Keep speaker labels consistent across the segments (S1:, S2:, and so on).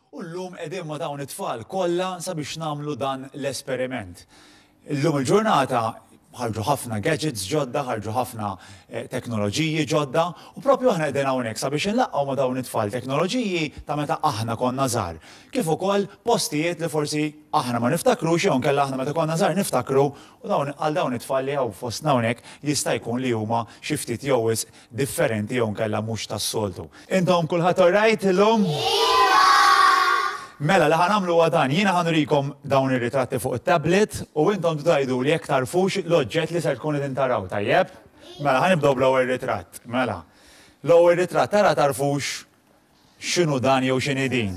S1: U llum qegħdin ma' dawn it-tfal kollha sabiex nagħmlu dan l-esperiment. Illum il-ġurnata ħarġu ħafna gadgets ġodda, ħarġu ħafna teknoloġiji ġodda u propju aħna qegħdin hawnhekk sabiex inlaqqgħu ma' dawn it-tfal teknoloġiji ta' meta aħna konna żgħar, kif ukoll postijiet li forsi aħna ma niftakrux jew inkella aħna meta konna żgħar niftakru u dawn għal dawn it-tfal li hawn fostna hawnhekk jista' jkun li huma xi ftit jew wisq differenti jew inkella mhux tas-soltu. Intom kulħadd alright illum? Iva! Mela, li ħa nagħmlu huwa dan, jiena ħa nurikom dawn ir-ritratti fuq it-tablet u intom tgħiduli jekk tagħrfux l-oġġett li ser tkunu qegħdin taraw, tajjeb? Mela, ħa nibdew bl-ewwel ritratt. Mela, l-ewwel ritratt tara tagħrfux x'inhu dan jew x'inhi din.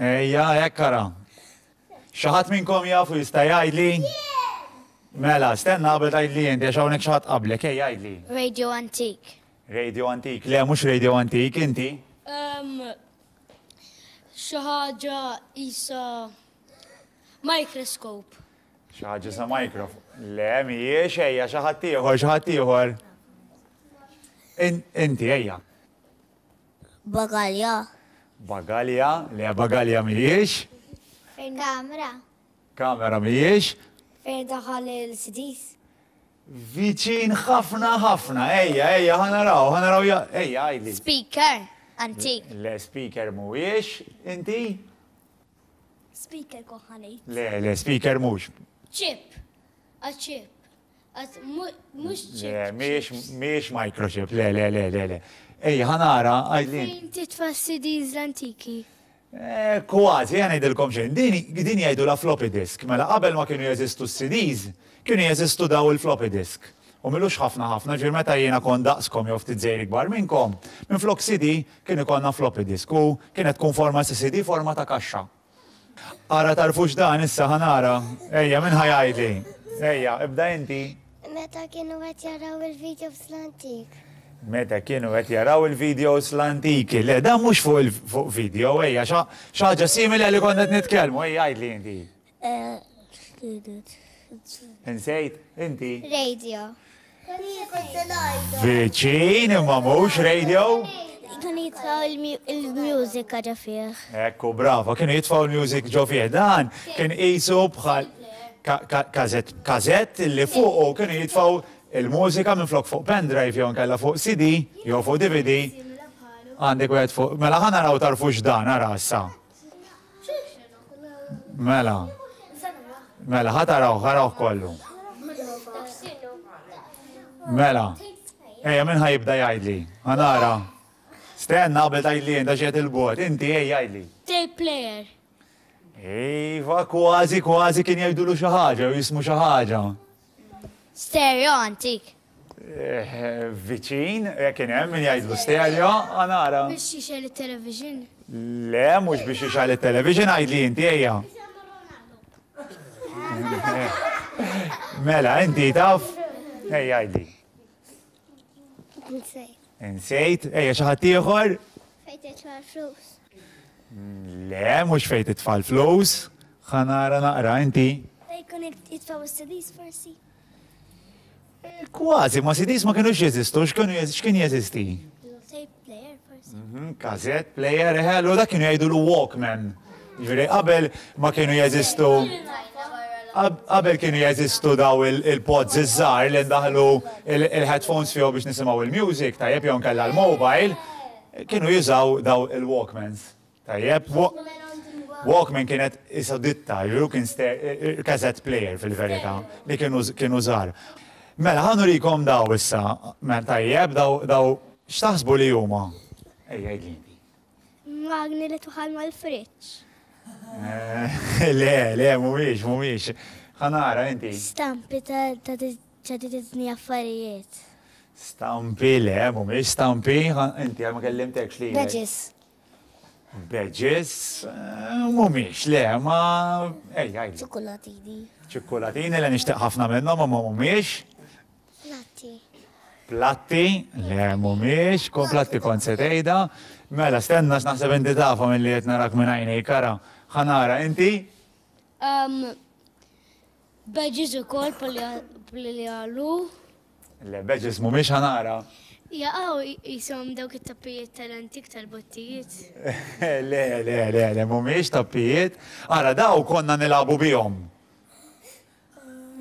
S1: Ejja, hekk ara. Xi ħadd minnkom jaf u jista' jgħidli? Mela, stenna qabel tgħidli inti għax hawnhekk xi ħadd qablek, ejja għidli.
S2: Radio antik.
S1: Radio antik, le mhux radio antik, inti?
S2: Xi ħaġa isa microscope.
S1: Xi ħaġa sa microphone. Le, mhijiex ejja xi ħadd ieħor, xi ħadd ieħor. Inti ejja.
S2: Bagalja.
S1: Bagalja, le bagalja mhijiex.
S2: Fejn kamera.
S1: Kamera mhijiex.
S2: Fejn daħal il-CDs.
S1: Viċin ħafna ħafna, ejja, ejja, ħa naraw, ħa naraw, ejja, għidli.
S2: Speaker, antik.
S1: Le, speaker mhuwiex, inti?
S2: Speaker kont ħa ngħid.
S1: Le, le, speaker mhux.
S2: Chip, a chip.
S1: Le, mhijiex microchip, le, le, le, le, le. Ejja, ħa nara, għidli.
S2: Fejn titfa' CDs l-antiki?
S1: Eh, kważi, ħa ngħidilkom xejn. Din din jgħidulha floppy disk. Mela qabel ma kienu jeżistu s-CDs, kienu jeżistu daw il-floppy disk. U m'ilux ħafna ħafna, ġifieri meta jiena kont daqskom jew ftit żgħir ikbar minnkom, minflok CD kien ikollna floppy disk u kienet tkun forma ta' CD forma ta' kaxxa. Ara tagħrfux dan issa ħa nara. Ejja, min ħa jgħidli? Ejja, ibda inti.
S2: Meta kienu qed jaraw il-videos l-antik.
S1: Meta kienu qed jaraw il-videos l-antiki. Le, dan mhux fuq fuq video, ejja, xi ħaġa simili għal li konna qed nitkellmu, ejja għidli inti.
S2: Eh,
S1: Insejt, inti?
S2: Radio.
S1: Viċin imma mhux radio.
S2: Kienu jitfaw il-music ġo fih.
S1: Ekku, bravo, kienu jitfaw il-music ġo fih. Dan kien qisu bħal kazett kazett li fuqu kienu jitfaw il-mużika minn flok fuq pendrive jew nkella fuq CD jew fuq DVD. Għandek wieħed fuq. Mela ħa naraw tarfux dan ara issa. Mela. Mela, ħa taraw, ħarawh kollu. Mela. Ejja, min ħa jibda jgħidli? Ħa nara. Stenna qabel tgħidli inta xi il-bot. Inti ejja jgħidli.
S2: Tape player.
S1: Iva, kważi, kważi kien jgħidulu xi ħaġa, jew jismu xi ħaġa.
S2: Stereo antik.
S1: Eh, viċin, eh, kien hemm min jgħidlu stereo, ħa nara.
S2: Biex jixgħel it-television.
S1: Le, mhux biex jixgħel it-television, għidli inti ejja. Mela, inti taf? Ejja għidli.
S2: Insejt.
S1: Insejt, ejja xi ħadd ieħor?
S2: Fejn titfa' l-flus.
S1: Le, mhux fejn titfa' l-flus. Ħa nara naqra inti.
S2: Fejn kun jitfgħu s-CDs forsi.
S1: Kważi, ma CDs ma kienux jeżistu, x'kien jeżisti?
S2: Tape player forsi.
S1: Mhm, Cassette player, eħe, allura dak kienu jgħidulu Walkman. Ġifieri qabel ma kienu jeżistu qabel kienu jeżistu daw il-pods iż-żgħar li ndaħlu il-headphones fihom biex nisimgħu il-music, tajjeb jew nkella l-mobile, kienu jużaw daw il-Walkmans. Tajjeb, Walkman kienet isa ditta, ġifieri kien cassette player fil-verità, li kienu kienu żgħar. Mela, ħa nurikom daw issa, mela tajjeb, daw daw x'taħsbu li huma? Ejja, għidli inti.
S2: Magni li tuħal mal-friġġ.
S1: Eh, le, le, mhumiex, mhumiex. Ħa nara inti.
S2: Stampi ta' ta' Disney affarijiet.
S1: Stampi, le, mhumiex stampi, inti ma kellimtekx li.
S2: Badges.
S1: Badges, mhumiex, le, ma. Ejja, għidli.
S2: Ċikkulatini.
S1: Ċikkulatini li nixtieq ħafna minnhom, ma mhumiex.
S2: Platti.
S1: Platti, le mhumiex, kon platti kont se tgħidha. Mela, stenna x'naħseb inti tafhom illi qed narak minn għajnejk, ara. Ħa nara, inti?
S2: Badges ukoll bħal li qalu.
S1: Le, badges mhumiex ħa nara.
S2: Jaqaw qishom dawk it-tappijiet tal-antik tal-bottijiet.
S1: Le, le, le, le, mhumiex tappijiet. Ara, daw konna nilagħbu bihom.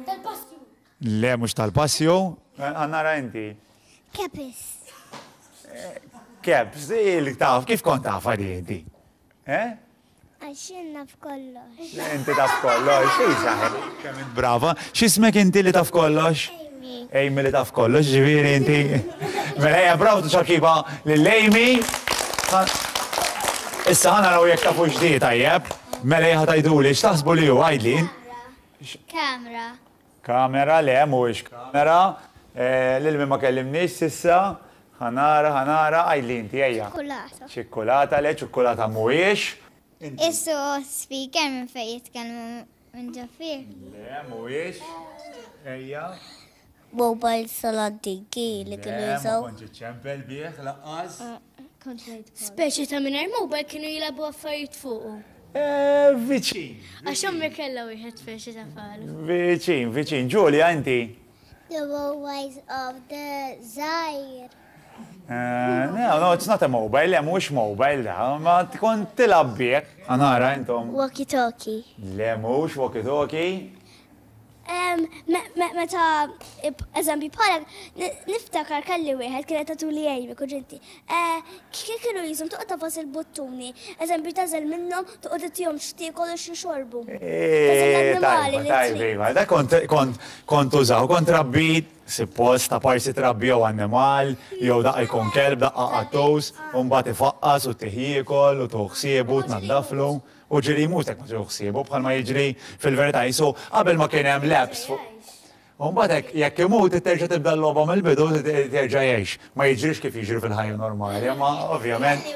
S2: Tal-passju.
S1: Le, mhux tal-passju. Nara inti.
S2: Caps.
S1: Caps, il taf, kif kont tafha di inti? Eh?
S2: Għax jien naf kollox.
S1: Inti taf kollox, isa, kemm int brava. X'ismek inti li taf kollox?
S2: Amy.
S1: Amy li taf kollox, ġifieri inti. Mela ejja bravo ċapċipa lil Amy. Issa ħa naraw jekk tafu x'di tajjeb. Mela ejja tgħiduli x'taħsbu li hu għidli.
S2: Kamera.
S1: Kamera, le mhuwiex kamera. Lil min ma kellimniex s'issa. Ħa nara, ħa nara, għidli inti, ejja.
S2: Ċikkulata.
S1: Ċikkulata, le ċikkulata mhuwiex.
S2: Qisu speaker minn fejn jitkellmu minn ġo fih.
S1: Le mhuwiex. Ejja.
S2: Mobiles tal-antiki li kienu jużaw.
S1: Le, ma kontx iċċempel bih lanqas.
S2: Speċi ta' mingħajr mobile kienu jilagħbu affarijiet fuqu.
S1: Eh, viċin.
S2: Għax ommi kellha wieħed speċi ta' falu.
S1: Viċin, viċin. Ġulia, inti?
S2: The mobiles of the żgħir.
S1: Eh, no, no, it's not a mobile, le, mhux mobile da, ma tkun tilgħab bih. Anara intom.
S2: Walkie talkie.
S1: Le, mhux walkie talkie.
S2: Meta, eżempju, bħalek, niftakar kelli wieħed kienet tagħtuli Amy kuġinti. Kif kienu jisom toqgħod tafas il-buttuni, eżempju tażel minnhom toqgħod ittihom x'tiekol u x'jixorbu.
S1: Tajba, tajba, iva, da kont kont użaw, kont rabbi suppost ta' parsi trabbi jew annimal, jew daqqa jkun kelb, daqqa qattus, u mbagħad ifaqqas u ttih jiekol u tuħu ħsiebu, tnaddaflu. U ġieli jmut hekk ma tieħu ħsiebu bħalma jiġri fil-verità qisu qabel ma kien hemm l-apps fuq. U mbagħad hekk jekk imut terġa' tibda l-logħba mill-bidu terġa' jgħix. Ma jiġrix kif jiġri fil-ħajja normali, imma ovvjament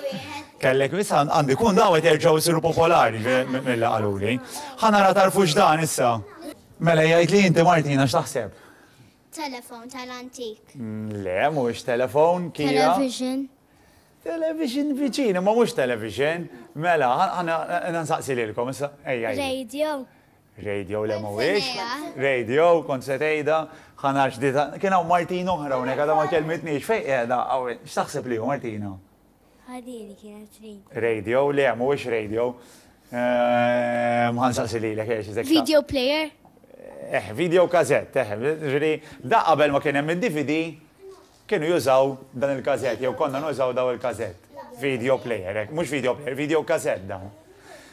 S1: kellek issa għandu jkun dawn qed jerġgħu jsiru popolari milli qaluli. Ħa nara tagħrfux dan issa. Mela jgħidli inti Martina x'taħseb?
S2: Telefon tal-antik.
S1: Le, mhuwiex telefon, Kira.
S2: Television.
S1: Television viċin, imma mhux television. Mela, ħa nsaqsi lilkom issa. Ejja.
S2: Radio.
S1: Radio le mhuwiex. Radio, kont se tgħidha, ħa nara x'dita. Kien hawn Martina oħra hawnhekk għadha ma kellmitniex. Fejn qiegħda? X'taħseb li hu Martina?
S2: Ħadini kienet radio.
S1: Radio, le mhuwiex radio. Ehm, ħa nsaqsi lilek, eh,
S2: Video player?
S1: Eh, video cassette, eh, ġifieri da qabel ma kien hemm id-DVD, Kienu jużaw dan il-cassette jew konna nużaw daw il-cassette. Video player, hekk, mhux video player, video cassette dawn.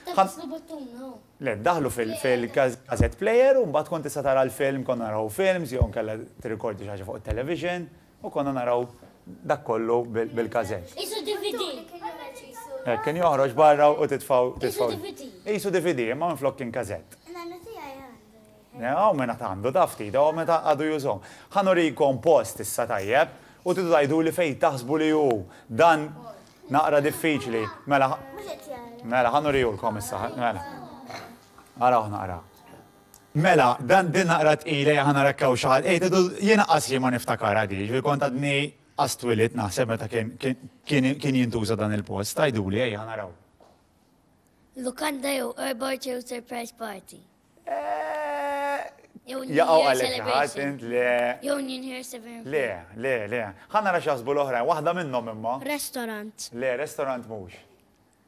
S2: Tagħfaslu buttuna hu.
S1: Le, ddaħħlu fil-cassette player u mbagħad kont tista' tara l-film, konna naraw films jew inkella tirrikordi xi ħaġa fuq it-television u konna naraw dak kollu bil-cassette.
S2: Qisu DVD.
S1: Hekk, kien joħroġ barra u titfgħu.
S2: Qisu DVD.
S1: Qisu DVD, imma minflok kien cassette.
S2: Nannu tiegħi għandu.
S1: Hawn min għad għandu ta' ftit, hawn meta għadu jużhom. Ħa nurikom post issa tajjeb u tridu tgħiduli fejn taħsbu li hu. Dan naqra diffiċli. Mela, mela ħa nurihulkom issa, mela. Arawh naqra. Mela, dan din naqra tqila ejja ħa nara jekk hawn xi ħadd. Ej tridu jien anqas jien ma niftakarha di, jiġifieri kont għadni qas twilidt naħseb meta kien kien kien jintuża dan il-post. Għiduli ejja ħa naraw.
S2: Lukanda jew airport jew surprise party.
S1: Jaqgħu għalek xi ħadd int le.
S2: Jew New Year Seven.
S1: Le, le, le. Ħa nara x'jaħsbu l-oħrajn, waħda minnhom imma.
S2: Restaurant.
S1: Le, restaurant mhux.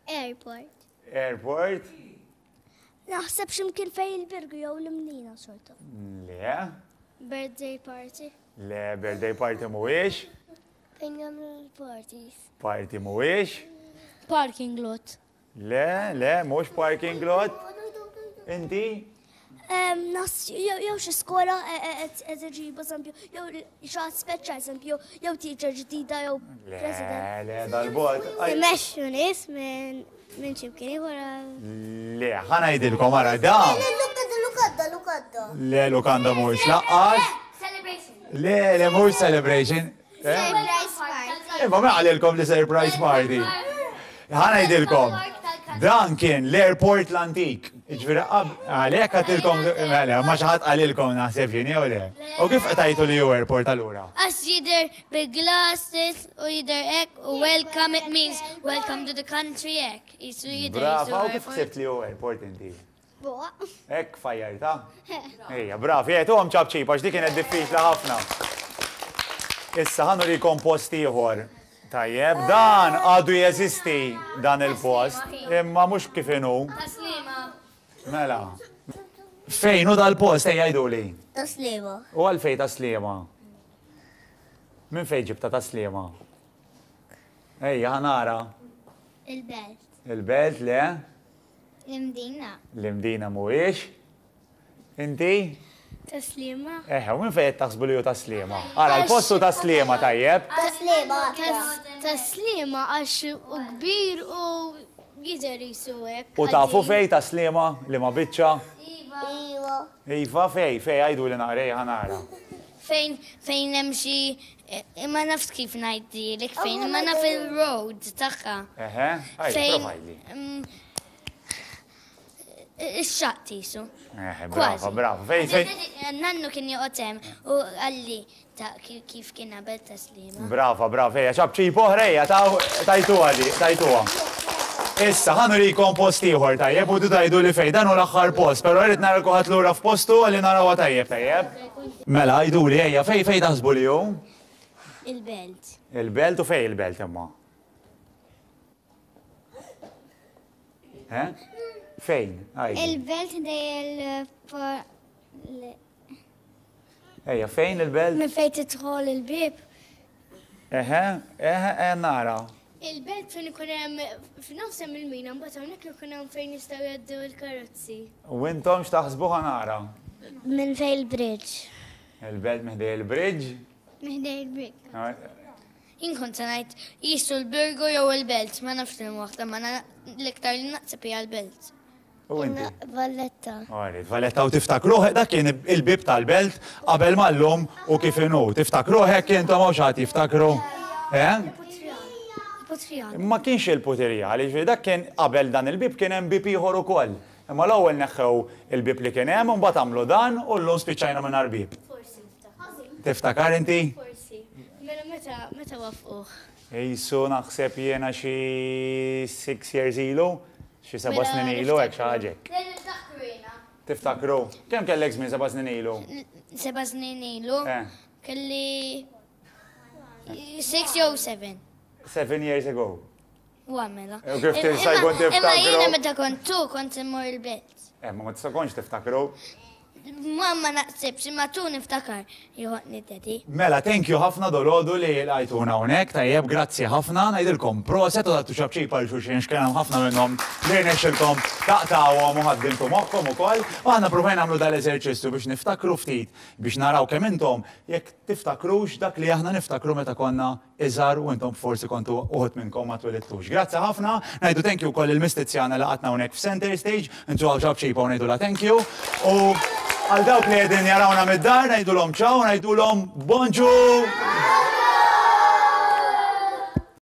S2: Airport.
S1: Airport.
S2: Naħseb x'imkien fejn il-Birgu jew l-Imnina sort of.
S1: Le.
S2: Birthday party.
S1: Le, birthday party mhuwiex.
S2: Fejn jagħmlu l-parties.
S1: Party mhuwiex.
S2: Parking lot.
S1: Le, le, mhux parking lot. Inti?
S2: Nas, jew xi skola qed iġibu eżempju, jew xi ħadd speċjal eżempju, jew teacher ġdida jew
S1: president. Le, le, dal-bogħod.
S2: Imexxu nies minn minn xi mkien ieħor
S1: Le, ħa ngħidilkom ara da.
S2: Lukanda, lukanda, lukanda.
S1: Le, lukanda mhux laqqas.
S2: Celebration.
S1: Le, le, mhux celebration.
S2: Surprise party.
S1: Imma ma qalilkom li surprise party. Ħa ngħidilkom. Dan kien l-airport l-antik. Ġifieri għalhekk għatilkom mela, ma xi ħadd qalilkom naħseb jien jew le. U kif qtajtu li hu airport allura?
S2: Għax jidher bi glasses u jidher hekk u welcome it means welcome to the country hekk. Jisu jidher.
S1: Brava, u kif ħsibt li hu airport inti? Hekk fajjartha? Ejja, bravi, għetuhom ċapċip għax dik kienet diffiċli ħafna. Issa ħa nurikom post ieħor. Tajjeb, dan għadu jeżisti dan il-post, imma mhux kif inhu.
S3: Tas-Sliema.
S1: Mela. Fejn hu dal-post ejja għiduli?
S2: Tas-Sliema.
S1: U għalfejn Tas-Sliema? Minn fejn ġibtha Tas-Sliema? Ejja ħa nara.
S2: Il-Belt.
S1: Il-Belt, le?
S2: L-Imdina.
S1: L-Imdina mhuwiex. Inti?
S3: Tas-Sliema.
S1: Eħe, u minn fejn qed taħsbu li hu Tas-Sliema? Ara, l-post hu Tas-Sliema, tajjeb?
S2: Tas-Sliema.
S3: Tas-Sliema għax hu kbir u jidher qisu hekk.
S1: U tafu fejn Tas-Sliema? Liema biċċa?
S2: Iva. Iva.
S1: Iva, fejn? Fejn? Għiduli naqra, ejja ħa nara.
S3: Fejn fejn hemm xi ma nafx kif ngħidilek fejn, imma naf il-road tagħha.
S1: Eħe, għidli, prova għidli.
S3: Ix-xaqq qisu.
S1: Eh, brava, brava. Fejn, fejn.
S3: Nannu kien joqgħod hemm u qalli ta' kif kien qabel taslima.
S1: Brava, brava, ejja, ċapċip oħra, ejja, tajtuha di, tajtuha. Issa, ħa nurikom post ieħor tajjeb u tgħidu li fejn dan hu l-aħħar post, però rrid nara kulħadd lura f'postu għalli narawha tajjeb, tajjeb. Mela, għiduli, ejja, fejn fejn taħsbu li hu?
S3: Il-belt.
S1: Il-belt u fejn il-belt imma? Eh? Fejn?
S2: Il-belt dej il
S1: Ejja, fejn il-belt?
S3: Minn fejn tidħol il-bib.
S1: Eħe, eħe, eh, nara.
S3: Il-belt fejn ikun hemm f'nofs hemm il-mina, mbagħad hawnhekk ikun hemm fejn jistgħu jgħaddu l-karozzi.
S1: U intom x'taħsbu ħa nara?
S2: Minn fejn il-bridge.
S1: Il-belt minn ħdej il-bridge?
S2: Minn ħdej il-bridge.
S1: Ah,
S3: Jien kont se ngħid qisu l-Birgu jew il-Belt, ma nafx liema waħda, ma l-iktar li naqseb hija l-Belt.
S1: U inti?
S2: Valletta.
S1: Alright, Valletta u tiftakruh dak kien il-bieb tal-belt qabel ma llum u kif inhu. Tiftakruh hekk intom hawn xi ħadd jiftakru? Eh?
S3: Il-Putrjal.
S1: Ma kienx il-Putirjal, jiġifieri dak kien qabel dan il-bieb kien hemm bieb ieħor ukoll. Imma l-ewwel neħħew il-bieb li kien hemm u mbagħad għamlu dan u llum spiċċajna mingħajr bieb.
S3: Forsi niftakar.
S1: Tiftakar inti?
S3: Forsi. Mela meta meta waffquh?
S1: Qisu naħseb jiena xi six years ilu, xi seba'
S3: Mela
S1: snin ilu hekk xi ħaġa hekk.
S3: Le niftakru jiena.
S1: Tiftakru? Kemm kellek żmien seba' snin ilu?
S3: Seba' snin ilu?
S1: Eh.
S3: Kelli six jew seven.
S1: Seven years ago.
S3: Wa mela.
S1: U kif tista' jkun tiftakru?
S3: Imma jiena meta kont tu kont immur il-belt.
S1: Eh, ma tista' kontx tiftakru.
S3: Ma ma naqsibx, imma tu niftakar joħodni daddy.
S1: Mela, thank you ħafna dolodu li lqajtuna hawnhekk, tajjeb, grazzi ħafna, ngħidilkom proset u tagħtu ċapċip għal xulxin x'kien hemm ħafna minnhom li rnexxilkom taqtgħuhom u ħaddimtu moħħkom ukoll. U aħna ppruvajna nagħmlu dal-eżerċizzju biex niftakru ftit biex naraw kemm intom jekk tiftakrux dak li aħna niftakru meta konna iżgħar u intom forsi kontu uħud minnkom ma twilidtux. Grazzi ħafna, ngħidu thank you wkoll lil Miss Tiziana li laqatna hawnhekk f'Center Stage, intuha ċapċipa u ngħidulha thank you. U għal dawk li qegħdin jarawna mid-dar ngħidulhom ciao, ngħidulhom bonġu!